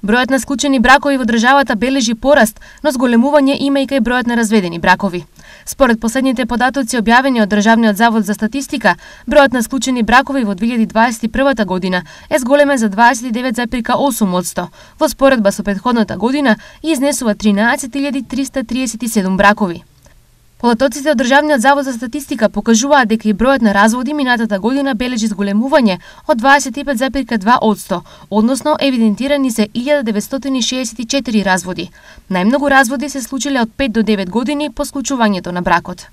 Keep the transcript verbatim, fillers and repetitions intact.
Бројот на склучени бракови во државата бележи пораст, но зголемување има и кај бројот на разведени бракови. Според последните податоци објавени од Државниот завод за статистика, бројот на склучени бракови во две илјади дваесет и прва година е зголемен за дваесет и девет зарез осум одсто, во споредба со претходната година и изнесува тринаесет илјади триста триесет и седум бракови. Податоците од Државниот завод за статистика покажуваат дека и бројот на разводи минатата година бележи зголемување од дваесет и пет зарез два одсто, односно евидентирани се илјада деветстотини шеесет и четири разводи. Најмногу разводи се случиле од пет до девет години по склучувањето на бракот.